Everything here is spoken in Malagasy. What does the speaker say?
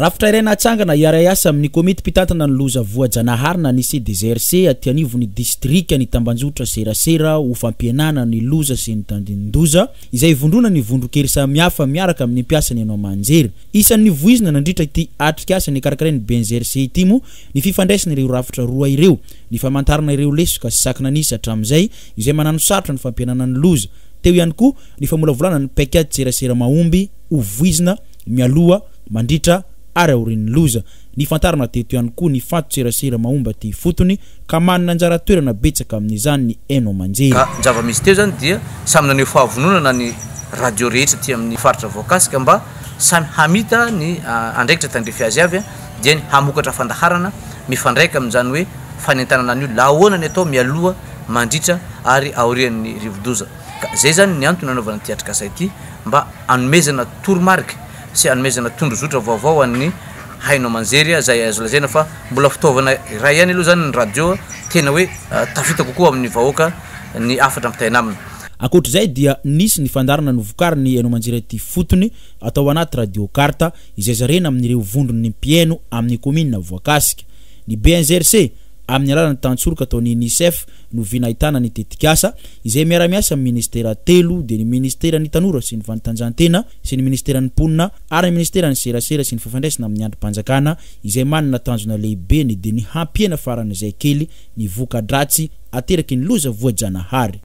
Rafitra iray natsangana hiara-hiasa amin'ny komity mpitantana ny loza voajanahary na ny CDGRC aty anivon'ny distrika ny tambanjotra serasera ho fampihenana ny loza sy ny tandindon-doza izay ivondronan'ny vondron-kery samihafa miaraka amin'ny mpiasa ny haino aman-jery. Isan'ny voizina nandritra ity atrikasa nikarakarain'ny BNGRC ity moa ny fifandraisana ireo rafitra roa ireo, ny famantarana ireo lesoka sy sakana nisy hatramin'izay izay mananosarotra ny fampihenana ny loza. Teo ihany koa ny famolavolana ny paikady serasera mahomby ho voizina mialoha, mandritra ary aorian'ny loza. Nifantarana teto ihany koa ny fanton-tserasera mahomby aty ifotony ka manana anjara toerana betsaka amin'izany ny haino aman-jery. Ka ny zava-misy teo izany dia samy naneho fahavononana ny radio rehetra aty amin'ny faritra voakasika mba samy hamita ny andraikitra tandrify azy avy dia ny hamokatra fandaharana mifandraika amin'izany hoe fanentanana ny olona ahoana ny atao mialoha, mandritra ary aorian'ny rivodoza. Ka izay izany ny antony nanaovana ity atrikasa ity mba hanomezana toromarika sy hanomezana tondrozotra vaovao ho an'ny haino aman-jery izay azo lazaina fa mbola fitaovana iray ihany aloha izany ny radio tena hoe tafita kokoa amin'ny vahoaka ny hafatra ampitaina aminy. Ankoatra izay dia nisy ny fandaharana novokarin'ny haino aman-jery aty ifotony atao anaty radio carte izay zarena amin'ireo vondron'ny mpihaino amin'ny kaominina voakasika. Ny BNGRC amin'ny alalan'ny tantsoroka ataon'ny Unicef no vina ahitana ny tetikasa izay miara-miasa amin'ny minisitera telo dia ny minisiteran'ny tanora sy ny fanatanjahantena sy ny minisiteran'ny mponina ary ny minisiteran'ny serasera sy ny fifandraisana amin'ny andrim-panjakana izay manana tanjona lehibe ny dia ny hampihena faran'izay kely ny voka-dratsy ateraky ny loza voajanahary.